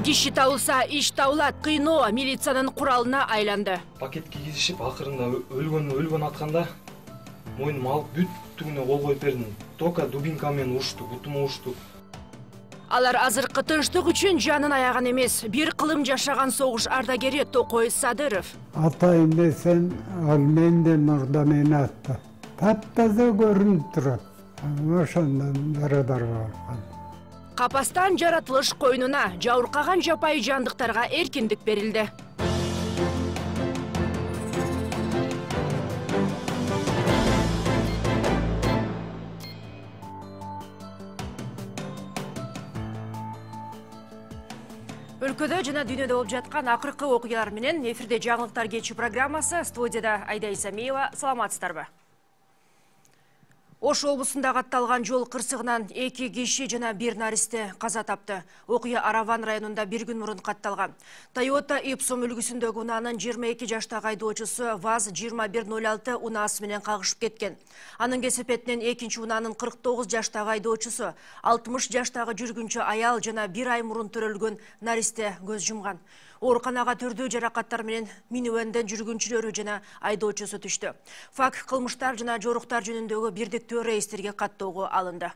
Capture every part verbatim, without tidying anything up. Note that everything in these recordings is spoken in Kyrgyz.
Диши табылса, иш табылат. Кыйноо милициянын куралына айланды. Пакет кийгизишип, акырында өлгөн өлгөн атканда мойнум алып бүттүгүнө кол коюп бердим. Тока дубинка менен урушту, бутума урушту. Алар азыркы тынчтык үчүн жанын аяган эмес. Бир кылым жашаган согуш ардагери Токой Садыров. Атайын десем, ал менден мурда мени атты. Таптаза көрүнүп турат. Ошондон барадар болгон. Капастан жаратылыш койнуна жабыркаган жапайы жандыктарга эркиндик берилди. Өлкөдө жана дүйнөдө болуп жаткан акыркы окуялар менен эфирде жаңылыктар кечи программасы. Студияда Айда Исамиева. Саламатсыздарбы? Ош облусунда катталган жол кырсыгынан эки киши жана бир наристе каза тапты. Окуя Араван районунда бир күн мурун катталган. Toyota Ipsum үлгүсүндөгү унаанын жыйырма эки жаштагы айдоочусу ВАЗ жыйырма бир ноль алты унаасы менен кагышып кеткен. Анын кесепетинен экинчи унаанын кырк тогуз жаштагы айдоочусу, алтымыш жаштагы жүргүнчү аял жана бир ай мурун төрөлгөн наристе көз жумган. Ооруканага түрдүү жаракаттар менен минивенден жүргүнчүлөрү жана айдоочусу түштү. Факт кылмыштар жана жоруктар жөнүндөгү бирдиктүү реестрге каттоого алынды.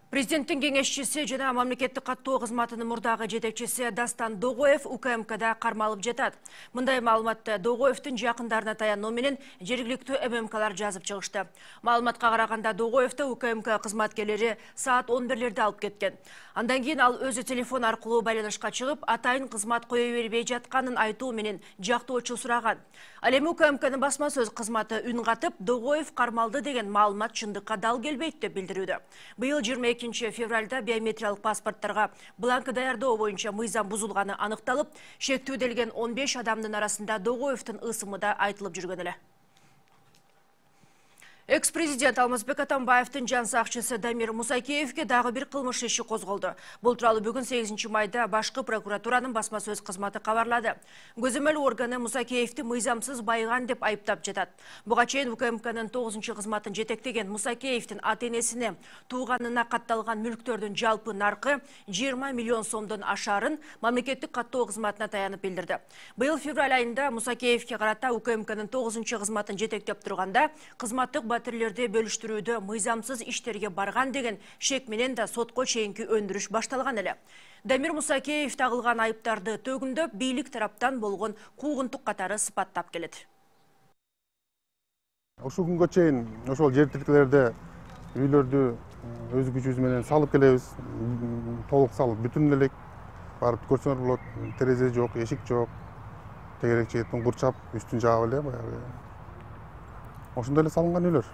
Президенттин кеңешчиси жана мамлекеттик каттоо кызматынын мурдагы жетекчиси Дастан Догоев У К М Кда кармалып жатат. Мындай маалыматты Догоевдин жакындарына таянуу менен жергиликтүү М М Клар жазып чыгышты. Маалыматка караганда Догоевди У К М К кызматкерлери саат он бирлерде алып кеткен. Андан кийин ал өзү телефон аркылуу байланышка чыгып, атайын кызмат кое бербей жатканын айтуу менен жактоочу сураган. Ал эми У К М Кнын басма сөз кызматы үн катып, Догоев кармалды деген маалымат чындыкка дал келбейт деп билдирүүдө. Быйыл жыйырма экинчи февралда биометриялык паспорттарга бланк даярдоо боюнча мыйзам бузулганы аныкталып, шектүүделген он беш адамдын арасында Догоевдин ысымы да айтылып жүргөн эле. Экс-президент Алмазбек Атамбаевдин жан сакчысы Дамир Мусакеевге дагы бир кылмыш иши козголду. Бул тууралуу бүгүн сегизинчи майда башкы прокуратуранын басма сөз кызматы кабарлады. Көзөмөл органы Мусакеевди мыйзамсыз байыган деп айыптап жатат. Буга чейин У К М Кнын тогузунчу кызматын жетектеген Мусакеевдин ата-энесине тууганына катталган мүлктөрдүн жалпы наркы жыйырма миллион сомдон ашарын мамлекеттик каттоо кызматына таянып билдирди. Быйыл февраль айында Мусакеевге карата У К М Кнын тогузунчу кызматын жетектеп турганда кызматтык батирлерди бөлүштүрүүдө мыйзамсыз иштерге барган деген шек менен да сотко чейинки өндүрүш башталган эле. Дамир Мусакеев тагылган айыптарды төгүндөп, бийлик тараптан болгон куугунтук катары сыпаттап келет. Ушул күнгө чейин ошол жер тилкелерде үйлөрдү өз күчүбүз менен салып келебиз. Толук салып бүтүн элек. Барып көрсөңөр болот, терезе жок, эшик жок. Тегерек жээттен курчап, үстүн жаап эле баягы. Ошондой эле салынган үйлөр.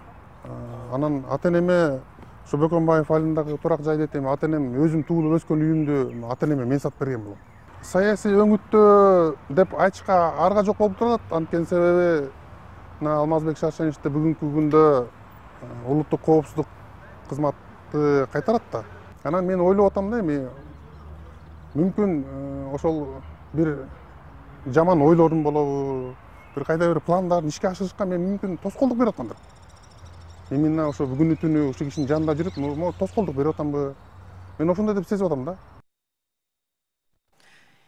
Анан ата-энеме ушу Бөкөнбаев айылындагы турак жайды айтайм. Ата-энем өзүм туулуп өскөн үйүмдү ата-энеме мен сатып берген болом. Саясий өңүттө деп айтышка арга жок болуп турат. Анткени себеби Алмазбек Шаршеновичти бүгүнкү күндө улуттук коопсуздук кызматы кайтарат да. Анан мен ойлоп атам да, эми мүмкүн ошол бир жаман ойлорум болобу, бир кайда бир пландарын ишке ашырышка мен мүмкүн тоскоолдук берип атамдыр. Именно ошо бүгүнү түнү ушул кишинин жанында жүрүп, могу тоскоолдук берип атамбы? Мен ошондой деп сезип атам да.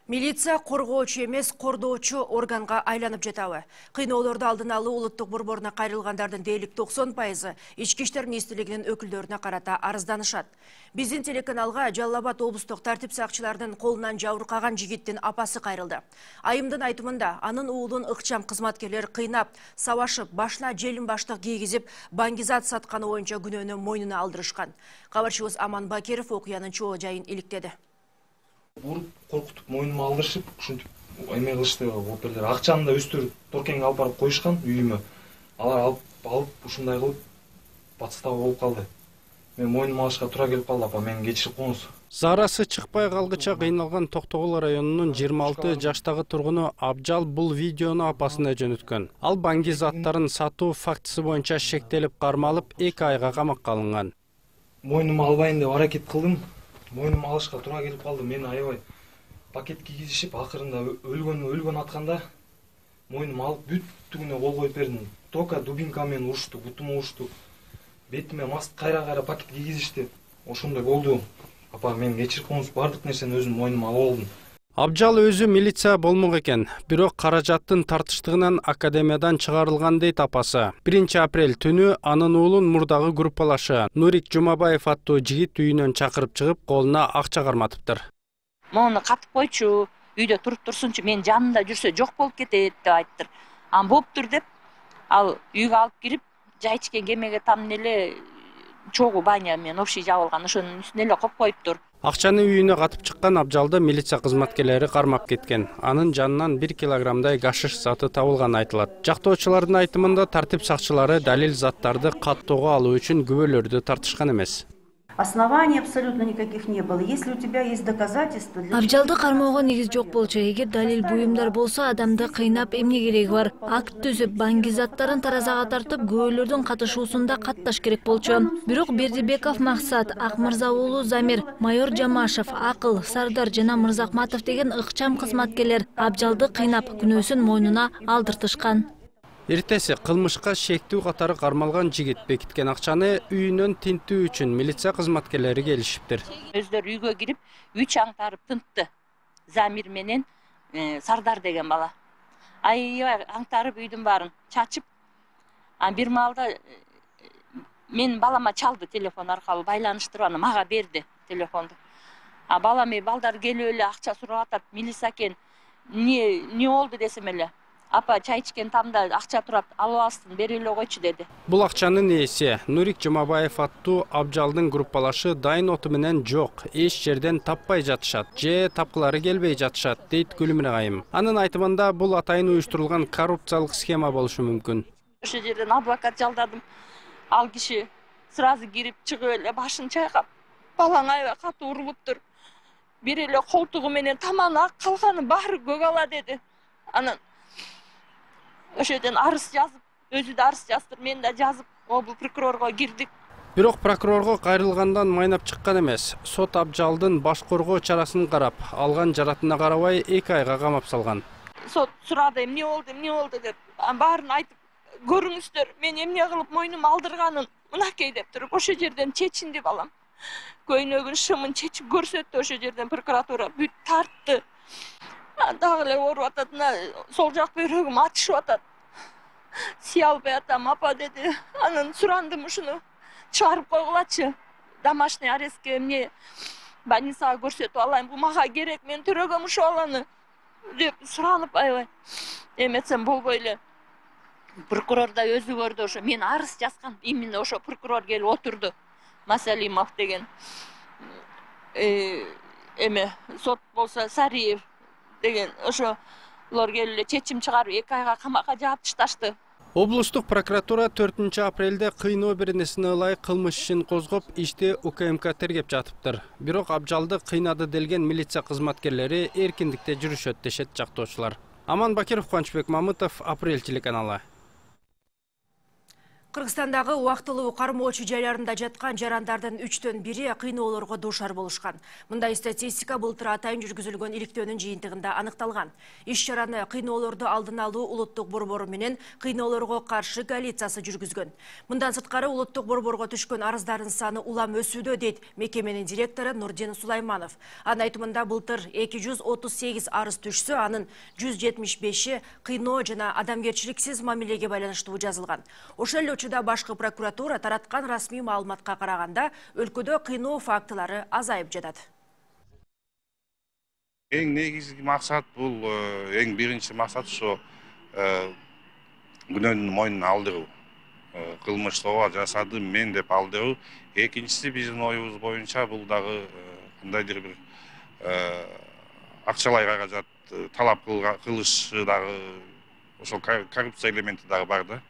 Милиция коргоочу эмес, кордоочу органга айланып жатабы? Кыйноолорду алдын алуу улуттук борборуна кайрылгандардын дээрлик токсон пайызы ички иштер министрлигинин өкүлдөрүнө карата арызданышат. Биздин телеканалга Жалал Абад облустук тартип сакчылардын колунан жабыркаган жигиттин апасы кайрылды. Айымдын айтымында анын уулун ыкчам кызматкерлер кыйнап, сабашып, башына желим баштык кийгизип, баңгизат сатканы боюнча күнөөнү мойнуна алдырышкан. Кабарчыбыз Аман Бакиров окуянын чоо жайын иликтеди. Уруп, коркутуп, мойнума алдырышып, ушинтип эме кылышты. Оперлер акчаны да өстүрүп, Торкеңге алып барып коюшкан үйүмө. Алар алып, алып ушундай кылып подстава болуп калды. Мен мойнума алышка туура келип калды, апа, мени кечирип коңуз. Зарасы чыкпай калгыча кыйналган Токтогул районунун жыйырма алты жаштагы тургуну Абжал бул видеону апасына жөнөткөн. Ал баңги заттарын сатуу фактысы боюнча шектелип кармалып, эки айга камакка алынган. Мойнума албайын деп аракет кылдым. Мойнума алышка туура келип калды. Мени аябай пакет кийгизишип, акырында өлгөн өлгөн атканда мойнума алып бүттүгүнө кол коюп бердим. Тока дубинка менен урушту, бутума урушту. Бетиме маст кайра-кайра пакет кийгизишти. Ошондой болду. апа мен кечирип коюңуз, баардык нерсени өзүм мойнума алып алдым. Абжал өзү милиция болмок экен, бирок каражаттын тартыштыгынан академиядан чыгарылган дейт апасы. биринчи апрель түнү анын уулун мурдагы группалашы Нурик Жумабаев аттуу жигит үйүнөн чакырып чыгып, колуна акча карматыптыр. Мону катып койчу, үйдө туруп турсунчу, мен жанында жүрсө жок болуп кетет деп айттыр. Ан болуптур деп, ал үйгө алып кирип, жай ичкен кемеге там эле чогуу баня менен общий жабылган, ошонун үстүнө эле коюп коюптур. Акчаны үйүнө катып чыккан Абжалды милиция кызматкерлери кармап кеткен. Анын жанынан бир килограммдай гашиш заты табылганы айтылат. Жактоочулардын айтымында тартип сакчылары далил заттарды каттоого алуу үчүн күбөлөрдү тартышкан эмес. Оснований абсолютно никаких не было. Если у тебя есть доказательства... Абжалды кармоого негиз жок болчу. Эгер далил буюмдар болсо, адамды кыйнап эмне кереги бар? Акт түзүп, банги заттарын таразага тартып, күбөлөрдүн катышуусунда катташ керек болчу. Бирок Бердибеков Максат, Акмырза уулу Замир, майор Жамашев, Акыл, Сардар жана Мырзакматов деген ыкчам кызматкерлер Абжалды кыйнап, күнөөсүн мойнуна алдыртышкан. Эртеси кылмышка шектүү катары кармалган жигит бекиткен акчаны үйүнөн тинтүү үчүн милиция кызматкерлери келишиптир. Өздөрү үйгө кирип, үч аңтарып тынтты. Замир менен Сардар деген бала. Аябай аңтарып үйдүн баарын чачып, а бир маалда мен балама чалды телефон аркылуу, байланыштырып аны мага берди телефонду. А балам балдар келип эле акча сурап атат, милиция экен. Не не болду десем эле. Апа чай ичкен тамда акча турат, алып алсын, бери эле койчу деди. Бул акчанын ээси Нурик Жумабаев аттуу Абжалдын группалашы дайын оту менен жок, эч жерден таппай жатышат, же тапкылары келбей жатышат, дейт Гүлмира айым. Анын айтымында бул атайын уюштурулган коррупциялык схема болушу мүмкүн. Ошол жерден адвокат жалдадым. Ал киши сразу кирип чыгып эле башын чайкап, балаң аябай катуу урулуптур. Бир эле колтугу менен таманы ак, калганы баары көк ала деди. Анан ошол жерден арыз жазып, өзү да арыз жаздыр, мен да жазып, обул прокурорго кирдик. Бирок прокурорго кайрылгандан майнап чыккан эмес. Сот Абжалдын баш коргоо чарасын карап, алган жаратына карабай эки айга камап салган. Сот сурады, эмне болду, эмне болду деп, баарын айтып, көрүңүздөр, мен эмне кылып мойнума алдырганын мынакей деп туруп, ошол жерден чечинди балам. Көйнөгүн шымын чечип көрсөттү, ошол жерден прокуратура бүт тартты. Дагы эле ооруп атат, сол жак бөйрөгүм атышып атат. Сый албай атам, апа деди. Анан сурандым ушуну чыгарып койгулачы. Домашний арестке эмне больницага көрсөтүп алайын, бул мага керек, мен төрөгөм ушул баланы деп суранып аябай эметсем болбой эле. Прокурор да өзү көрдү, ошо мен арыз жазган, именно ошо прокурор келип отурду. Масалимов деген. Э, эме сот болсо Сариев деген ошолор келип эле чечим чыгарып эки айга камакка жаап ташташты. Облустук прокуратура төртүнчү апрелде кыйноо беренесине ылайык кылмыш ишин козгоп, ишти У К М К тергеп жатыптыр. Бирок Абжалды кыйнады делген милиция кызматкерлери эркиндикте жүрүшөт дешет жактоочулар. Аман Бакиров, Кубанычбек Мамытов, Апрель телеканалы. Кыргызстандагы убактылуу кармоочу жайларында жаткан жарандардын үчтөн бири кыйноолорго дуушар болушкан. Мындай статистика былтыр атайын жүргүзүлгөн иликтөөнүн жыйынтыгында аныкталган. Иш чараны кыйноолорду алдын алуу улуттук борбору менен кыйноолорго каршы коалициясы жүргүзгөн. Мындан сырткары улуттук борборго түшкөн арыздардын саны улам өсүүдө, дейт мекеменин директору Нурдин Сулайманов. Анын айтымында былтыр эки жүз отуз сегиз арыз түшсө, анын жүз жетимиш беши кыйноо жана адамгерчиликсиз мамилеге байланыштуу жазылган. Ошол да башкы прокуратура тараткан расмий маалыматка караганда өлкөдө кыйноо фактылары азайып жатат. Эң негизги максат бул, эң биринчи максат ошо күнөөнүн мойнуна алдыруу. Кылмыш ооба жасадым мен деп алдыруу. Экинчиси биздин оюбуз боюнча бул дагы кандайдыр бир акчалай каражат талап кылышы дагы ошол коррупция элементи дагы бар да.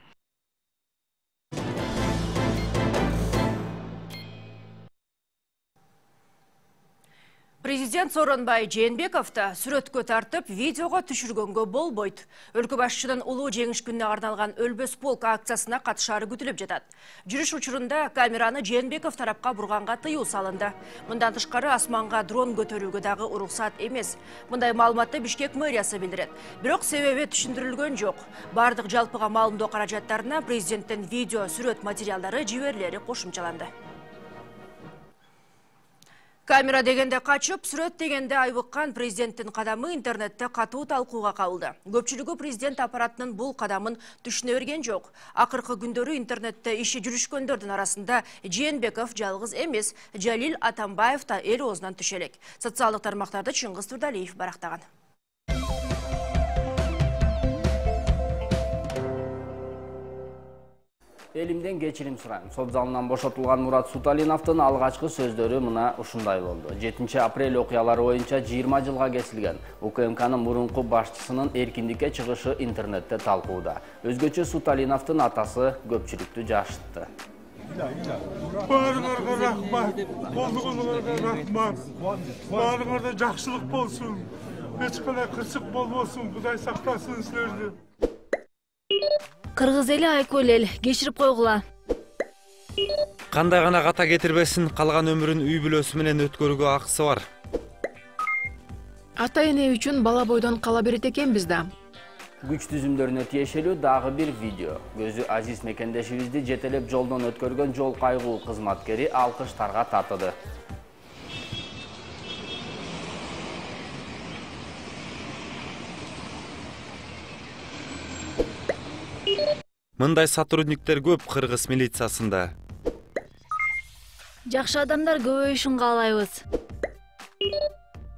Президент Сооронбай Жээнбековду сүрөткө тартып, видеого түшүргөнгө болбойт. Өлкө башчынын улуу жеңиш күнүнө арналган Өлбөс полк акциясына катышары күтүлүп жатат. Жүрүш учурунда камераны Жээнбеков тарапка бурганга тыюу салынды. Мындан тышкары асманга дрон көтөрүүгө дагы уруксат эмес. Мындай маалыматты Бишкек мэриясы билдирет. Бирок себеби түшүндүрүлгөн жок. Бардык жалпыга маалымдоо каражаттарына президенттин видео сүрөт материалдары жиберилери кошумчаланды. Камера дегенде качып, сүрөт дегенде айбыккан президенттин кадамы интернетте катуу талкууга кабылды. Көпчүлүгү президент аппаратынын бул кадамын түшүнө берген жок. Акыркы күндөрү интернетте иши жүрүшкөндөрдүн арасында Жээнбеков жалгыз эмес, Жалил Атамбаев да эл оозунан түшө элек. Социалдык тармактарды Чыңгыз Турдалиев барактаган. Элимден кечирим сурайм. Сот залынан бошотулган Мурат Суталиновдун алгачкы сөздөрү мына ушундай болду. жетинчи апрель окуялары боюнча жыйырма жылга кесилген УКМКнын мурунку башчысынын эркиндикке чыгышы интернетте талкууда. Өзгөчө Суталиновдун атасы көпчүлүктү жашытты. Баарыңарга рахмат, колдугуңарга рахмат. Баарыңарда жакшылык болсун, эч кандай кырсык болбосун, Кудай сактасын силерди. Кыргыз эли айкөл эл, кечирип койгула. Кандай гана ката кетирбесин, калган өмүрүн үй бүлөсү менен өткөрүүгө акысы бар. Ата эне үчүн бала бойдон кала берет экенбиз да. Күч түзүмдөрүнө тиешелүү дагы бир видео. Көзү азиз мекендешибизди жетелеп жолдон өткөргөн жол кайгуу кызматкери алкыштарга татыды. Мындай сотрудниктер көп Кыргыз милициясында. Жакшы адамдар көбөйүшүн каалайбыз.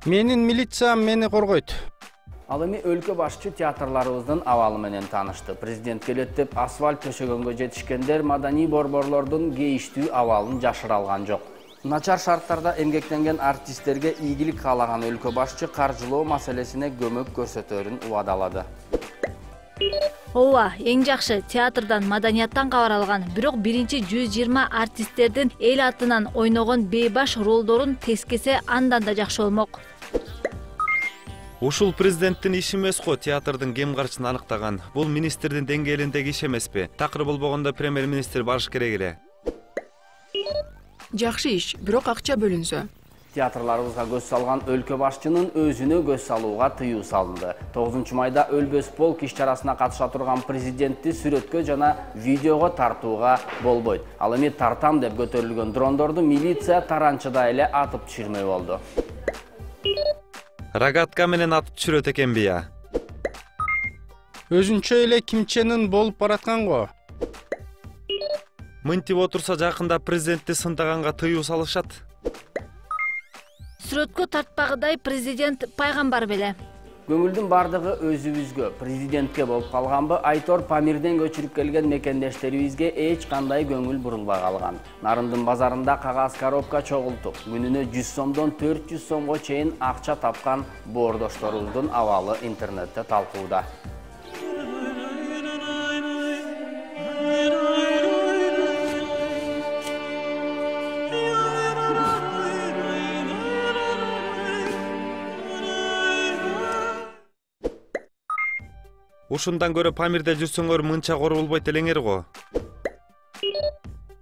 Менин милициям мени коргойт. Ал эми өлкө башчы театрларыбыздын абалы менен таанышты. Президент келет деп асфальт төшөгөнгө жетишкендер маданий борборлордун кейиштүү абалын жашыра алган жок. Начар шарттарда эмгектенген артисттерге ийгилик каалаган өлкө башчы каржылоо маселесине көмөк көрсөтөрүн убадалады. Ооба, эң жакшы театрдан, маданияттан кабар алган. Бирок биринчи жүз жыйырма артисттердин эл атынан ойногон бейбаш ролдорун тескесе андан да жакшы болмок. Ушул президенттин иши эмес го театрдын кем карчысын аныктаган. Бул министрдин деңгээлиндеги иш эмеспи? Такыр болбогондо премьер-министр барыш керек эле. Жакшы иш, бирок акча бөлүнсө. Театрларыбызга көз салган өлкө башчынын өзүнө көз салууга тыюу салынды. тогузунчу майда Өлбөс полк иш чарасына катыша турган президентти сүрөткө жана видеого тартууга болбойт. Ал эми тартам деп көтөрүлгөн дрондорду милиция таранчыда эле атып түшүрмөй болду. Рогатка менен атып түшүрөт экенби я? Өзүнчө эле кимченин болуп бараткан го. Мынтип отурса жакында президентти сындаганга тыюу салышат. Сүрөткө тартпагыдай президент пайгамбар беле. Көңүлдүн бардыгы өзүбүзгө, президентке болуп калганбы, Айтор Памирден көчүрүп келген мекендештерибизге эч кандай көңүл бурулбай калган. Нарындын базарында кагаз коробка чогултуп, күнүнө жүз сомдон төрт жүз сомго чейин акча тапкан боордошторубуздун абалы интернетте талкууда. Ушундан көрө Памирде жүрсөңөр мынча корулбойт элеңер го.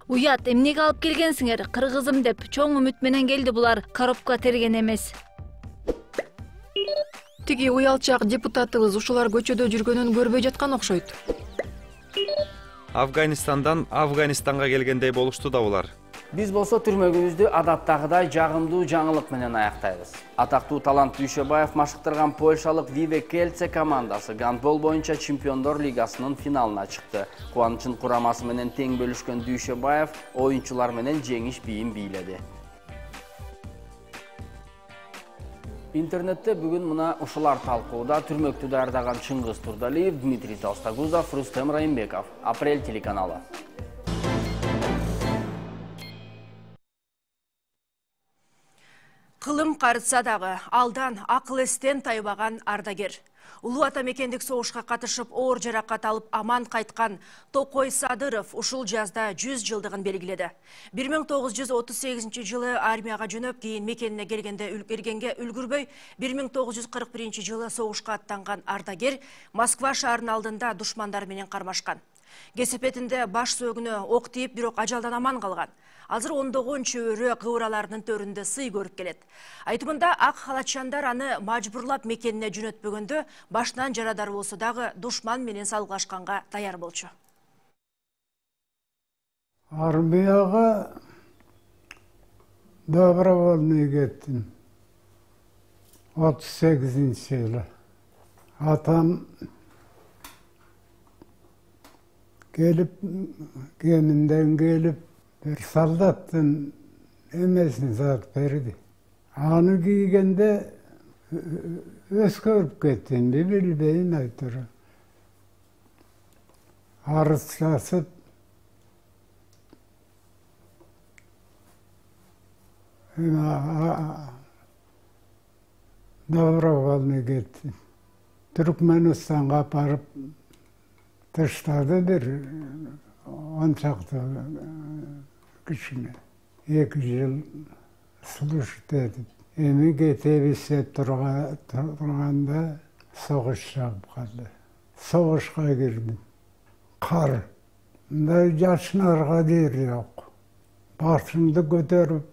Уят, эмнеге алып келгенсиңер? Кыргызым деп чоң үмүт менен келди булар, коробка терген эмес. Тиги уялчак депутатыбыз ушулар көчөдө жүргөнүн көрбөй жаткан окшойт. Афганистандан Афганистанга келгендей болушту да булар. Биз болсо түрмөгүбүздү адаттагыдай жагымдуу жаңылык менен аяктайбыз. Атактуу талант Дүйшөбаев машыктырган польшалык Виве Келце командасы гандбол боюнча Чемпиондор лигасынын финалына чыкты. Кубанычын курамасы менен тең бөлүшкөн Дүйшөбаев оюнчулар менен жеңиш бийин бийледи. Интернетте бүгүн мына ушулар талкууда. Түрмөктү даярдаган Чыңгыз Турдалиев, Дмитрий Толстогузов, Рустем Райымбеков. Апрель телеканалы. Кылым карытса дагы алдан акыл эстен тайбаган ардагер. Улуу ата мекендик согушка катышып оор жаракат алып аман кайткан Токой Садыров ушул жазда жүз жылдыгын белгиледи. бир миң тогуз жүз отуз сегизинчи жылы армияга жөнөп, кийин мекенине келгенде үлгергенге үлгүрбөй, бир миң тогуз жүз кырк биринчи жылы согушка аттанган ардагер Москва шаарынын алдында душмандар менен кармашкан. Кесепетинде баш сөөгүнө ок тийип, бирок ажалдан аман калган. Азыр ондогон чөбөрө кыбыраларынын төрүндө сый көрүп келет. Айтымында ак халатчандар аны мажбурлап мекенине жөнөтпөгөндө башынан жарадар болсо дагы душман менен салгылашканга даяр болчу. Армияга добровольный кеттим. отуз сегизинчи жылы. Атам келип, кеминден келип, bir солдаттын эмесин сатып берди. Аны кийгенде өзгөрүп кеттим, билбейм айтыры. Арыз жазып, добровольный кеттим. Түркменистанга апарып таштады бир он чакты кишини. эки жыл служить этип. Эми кетебиз деп турганда согуш чыгып калды. Согушка кирдим. Кар. Мындай жашынарга жер жок. Башымды көтөрүп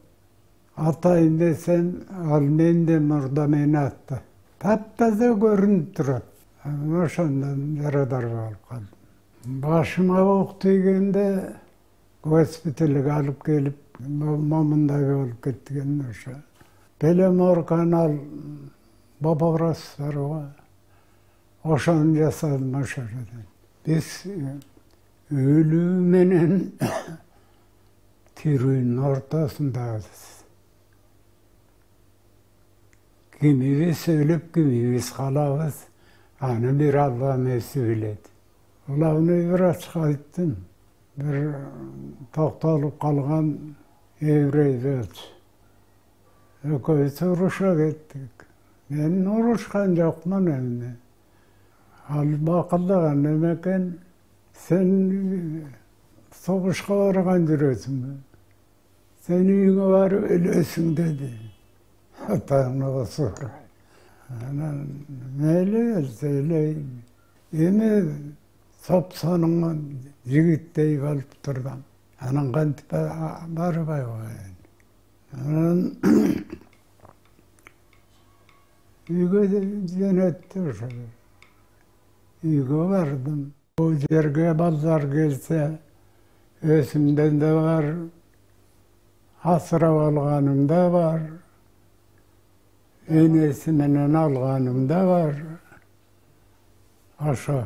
атайын десем, ал менден мурда мени атты. Таптаза көрүнүп турат. Ошондон жарадар болуп калдым. Башыма ок тийгенде госпиталга алып келип, момундай болуп кеткен ошо. Беломор канал боборос бар. Ошону жасадым ошо жерден. Биз өлүү менен тирүүнүн ортосундабыз. Кимибиз өлүп, кимибиз калабыз, аны бир Алланын өзү билет. Главный врачка айттым, бир токтолуп калган еврей болчу. Экөөбүз уруша кеттик. Мен урушкан жокмун эмне. Ал бакылдаган неме экен, сен согушка барган жүрөсүңбү? Сен үйүңө барып өлөсүң деди. Атаңны осур. Анан мейли элсе элейин. Эми сапсаныңан жигиттей болуп турдум. Анан кантип барбай коеюн. Анан үйгө жөнөттү ошо. Үйгө бардым. Бул жерге балдар келсе, өзүмдөн да бар, асырап алганым да бар, энеси менен алганым да бар. Ошо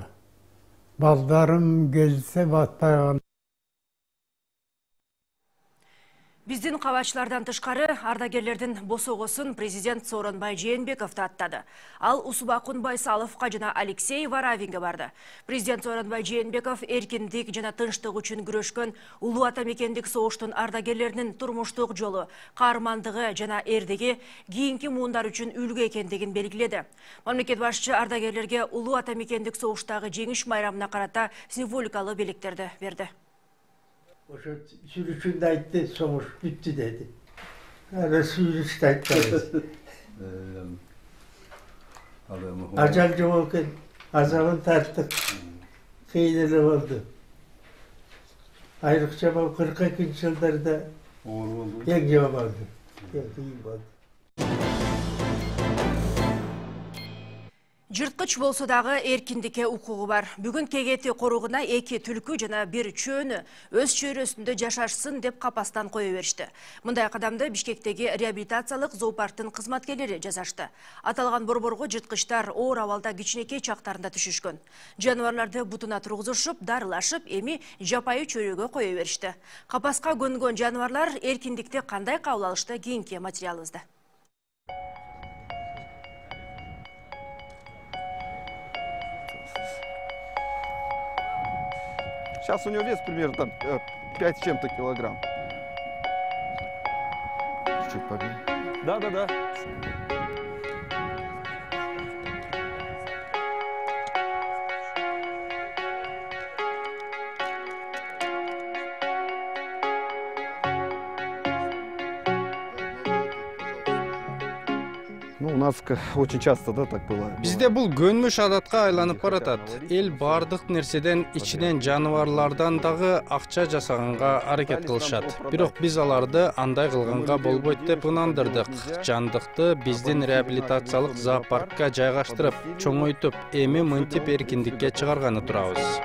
балдарым келсе батпай калып. Биздин кабачылардан тышкары ардагерлердин босогосун президент Сооронбай Жээнбеков аттады. Ал Усубакун Байсаловго жана Алексей Варавинге барды. Президент Сооронбай Жээнбеков эркиндик жана тынчтык үчүн күрөшкөн улуу ата мекендик согуштун ардагерлеринин турмуштук жолу, каармандыгы жана эрдиги кийинки муундар үчүн үлгү экендигин белгиледи. Мамлекет башчы ардагерлерге улуу ата мекендик согуштагы жеңиш майрамына карата символикалуу белектерди берди. Ошо сүрүшүндө айтты, согуш бүттү деди. Аны сүрүштү айтты. Ажал жок экен, азабын тарттык. Кыйын эле болду. Айрыкча бул кырк экинчи жылдарда оор болду. Эң жок болду. Эң кыйын болду. Жырткыч болсо дагы эркиндикке укугу бар. Бүгүн кегети коругуна эки түлкү жана бир чөөнү өз чөйрөсүндө жашашсын деп капастан кое беришти. Мындай кадамды Бишкектеги реабилитациялык зоопарктын кызматкерлери жасашты. Аталган борборго жырткычтар оор абалда кичинекей чактарында түшүшкөн. Жаныбарларды бутуна тургузушуп, дарылашып, эми жапайы чөйрөгө кое беришти. Капаска көнгөн жаныбарлар эркиндикти кандай кабыл алышты, кийинки материалыбызда. Сейчас у него вес примерно там пять с чем-то килограмм. Чуть побил. Да, да, да. Ну, у нас очень часто, да, так было. Бизде бул көнмүш адатка айланып баратат. Эл бардык нерседен, ичинен жаныбарлардан дагы акча жасаганга аракет кылышат. Бирок биз аларды андай кылганга болбойт деп ынандырдык. Жандыкты биздин реабилитациялык зоопаркка жайгаштырып, чоңойтуп, эми мынтип эркиндикке чыгарганы турабыз.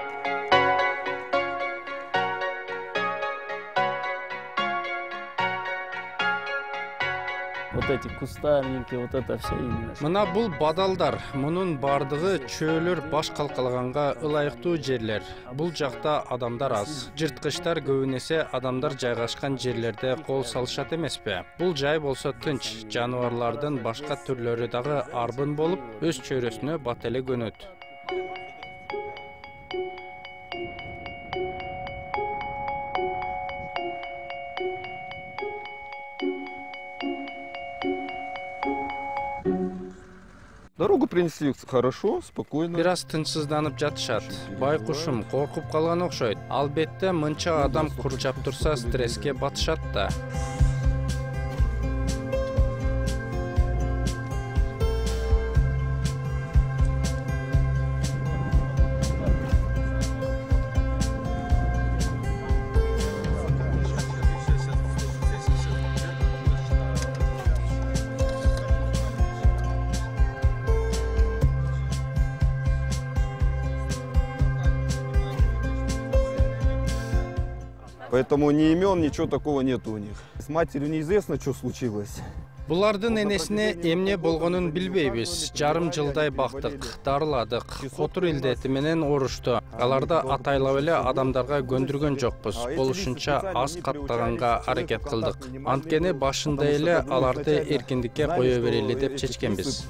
вот эти кустарники, вот это все именно. Мына бул бадалдар, мунун бардыгы чөөлөр баш калкалаганга ылайыктуу жерлер. Бул жакта адамдар аз. Жырткычтар көбүн эсе адамдар жайгашкан жерлерде кол салышат эмеспи? Бул жай болсо тынч, жаныбарлардын башка түрлөрү дагы арбын болуп, өз чөйрөсүнө бат эле көнөт. Дорогу принесли хорошо, спокойно. Бир аз тынчсызданып жатышат. Байкушум коркуп калган окшойт. Албетте мынча адам курчап турса стресске батышат да. Поэтому ни имен, ничего такого нет у них. С матерью неизвестно, что случилось. Булардын энесине эмне болгонун билбейбиз. Жарым жылдай бактык, дарыладык, котур илдети менен оорушту. Аларды атайлап эле адамдарга көндүргөн жокпуз. Болушунча аз каттаганга аракет кылдык. Анткени башында эле аларды эркиндикке кое берели деп чечкенбиз.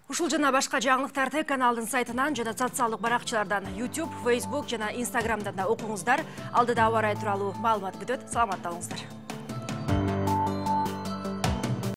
Ушул жана башка жаңылыктарды каналдын сайтынан жана социалдык баракчалардан YouTube, Facebook жана Instagramдан да окуңуздар. Алдыда аба ырайы тууралуу маалымат күтөт. Саламатта болуңуздар.